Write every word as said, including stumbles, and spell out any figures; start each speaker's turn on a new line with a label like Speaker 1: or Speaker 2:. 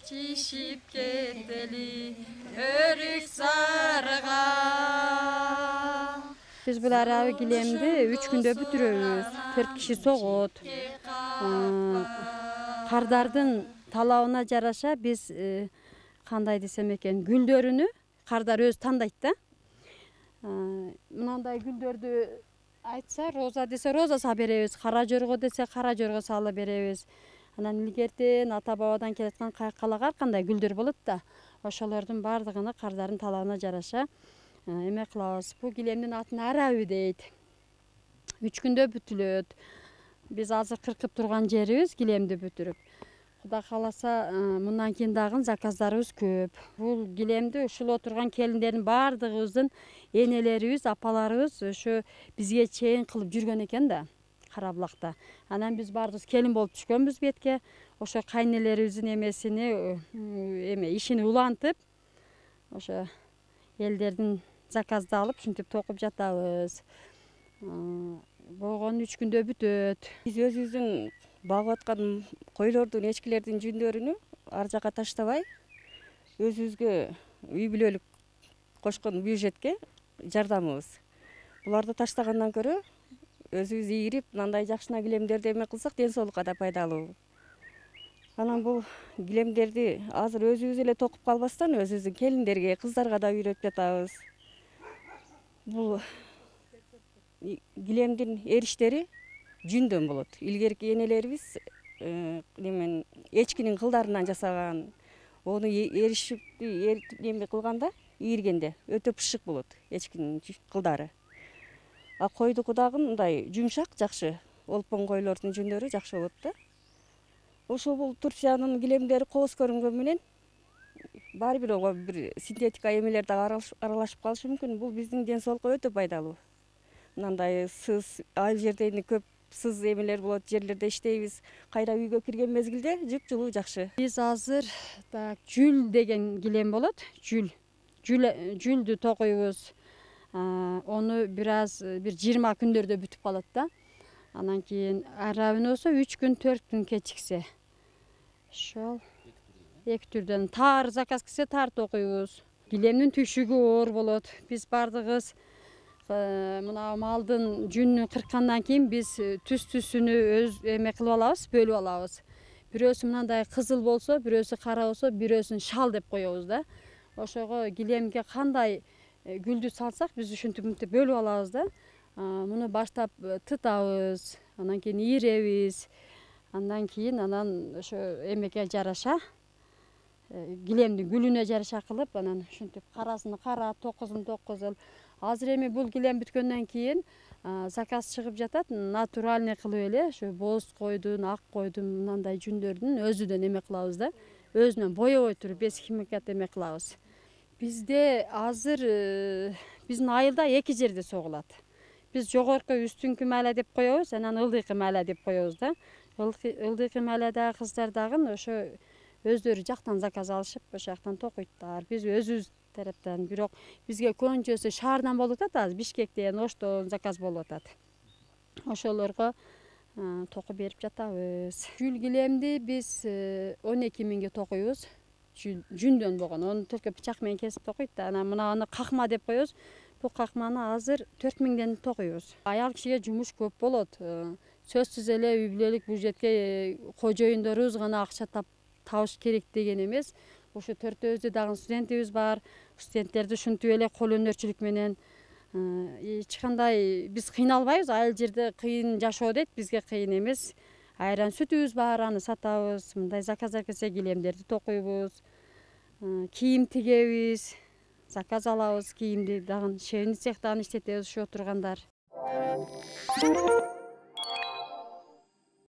Speaker 1: Çişip keteli örük sarıga. Biz bu arabi gilemdi üç günde бүтүрөбүз. Төрт киши согот. Кардардын талабына жараша биз кандай десем экен, гүлдөрүнү кардар өзү тандайт да. Мынандай гүлдөрдү айтса, роза десе роза салып беребиз, кара жорго десе кара жорго салып беребиз. Анан илгертен ата бабадан келаткан кайкалак ар кандай гүлдөр болот да. Ошолордун бардыгыны кардардын талабына жараша эме кылабыз. Бул гилемдин атын араби дейт. үч күндө бүтүлөт. Биз азыр кыркып турган жерибиз гилемди бүтүрүп. Кудай кааласа, мындан кийин дагы заказдарыбыз көп. Бул гилемди ушул отурган келиндердин бардыгыбыздын энелерибиз, апаларыбыз ошо бизге чейин кылып жүргөн экен да, Кара Булакта. Анан биз баарыбыз келин болуп түшкөнбүз бетке. Ошо кайнелерибиздин эмесини, эме ишини улантып, ошо элдердин заказды алып, ушинтип токуп жатабыз. Болгону үч күндө бүтөт.
Speaker 2: Биз өзүбүздүн багып аткан койлордун, эчкилердин жүндөрүнү ар жака таштабай, өзүбүзгө үй бүлөлүк кошкон бюджетке жардамыбыз. Буларды таштагандан көрө өзүбүз ийирип, мындай жакшына гилемдерди эме кылсак, ден соолукка да пайдалуу. Анан бул гилемдерди азыр өзүбүз эле токуп калбастан, өзүбүздүн келиндерге, кыздарга да үйрөтүп жатабыз. Бул гилемдин эриштери жүндөн болот. Илгерки энелерибиз немен эчкинин кылдарынан жасаган. Ону эришип, эме кылганда, ийиргенде өтө пышык болот эчкинин кылдары. А койдуку дагы мындай жумшак, жакшы. Олпон койлордун жүндөрү жакшы болот да. Ошол бул Турциянын гилемдери кооз көрүнгөн менен баары бир ого бир синтетика эмелер дагы аралашып калышы мүмкүн. Бул биздин ден соолукка өтө пайдалуу. Мындай сыз, айыл жердени көп сыз эмелер болот, жерлерде иштейбиз. Кайра үйгө кирген мезгилде жыпжылуу жакшы.
Speaker 1: Биз азыр так жүл деген гилем болот. Жүл. Жүл жүлдү токуйбуз. Ону бир аз бир жыйырма күндөрдө бүтүп калат да. Анан кийин арабын болсо үч күн, төрт күн кечиксе. Ошол эки түрдөн таар заказ келсе таар токуйбуз. Гилемдин түшүгү оор болот. Биз бардыгыбыз мына малдын жүнүн кырккандан кийин биз түс-түсүнү өз эме кылып алабыз, бөлүп алабыз. Бирөөсү мындай кызыл болсо, бирөөсү кара болсо, бирөөсүн шал деп коебуз да. Ошого гилемге кандай гүлдү салсак, биз ушинтип мынтип бөлүп алабыз да. Муну баштап тытабыз, анан кийин ийиребиз. Андан кийин анан ошо эмеге жараша, гилемдин гүлүнө жараша кылып, анан ушинтип карасын кара, токузун токузул. Азыр эми бул гилем бүткөндөн кийин заказ чыгып жатат, натуральный кылып эле, ошо боз койдун, ак койдун мындай жүндөрдүн өзүдөн эме кылабыз да. Өзүнөн боебой туруп без химикат эме кылабыз. Бизде азыр биздин айылда эки жерде согулат. Биз жогорку үстүңкү майла деп коебуз, анан ылдыйкы майла деп коебуз да. Ылдыйкы майладагы кыздар дагы ошо өздөрү жактан заказ алышып, ошол жактан токуйттар. Биз өзүбүз тараптан, бирок бизге көбүнчөсү шаардан болуп атат, азыр Бишкектен, Оштон заказ болуп атат. Ошолорго токуп берип жатабыз. Жүл гилемди биз он эки миңге токуйбуз. Жүндөн болгон, аны только бычак менен кесип токуйт да. Анан мына аны какма деп коебуз. Бул какманы азыр төрт миңден токуйбуз. Аял кишиге жумуш көп болот. Сөзсүз эле үй бүлөлүк бюджетке кожоюндорубуз гана акча табыш керек деген эмес. Ошо төртөөбүздө дагы студентибиз бар. Студенттерди ушинтип эле кол өнөрчүлүк менен эч кандай биз кыйналбайбыз. Айыл жерде кыйын жашоо дейт, бизге кыйын эмес. Айран сүтүбүз бар, аны сатабыз. Мындай заказдар келсе гилемдерди токуйбуз. Кийим тигебиз. Заказ алабыз кийимди, дагы швейный цехтан иштетебиз ошо отургандар.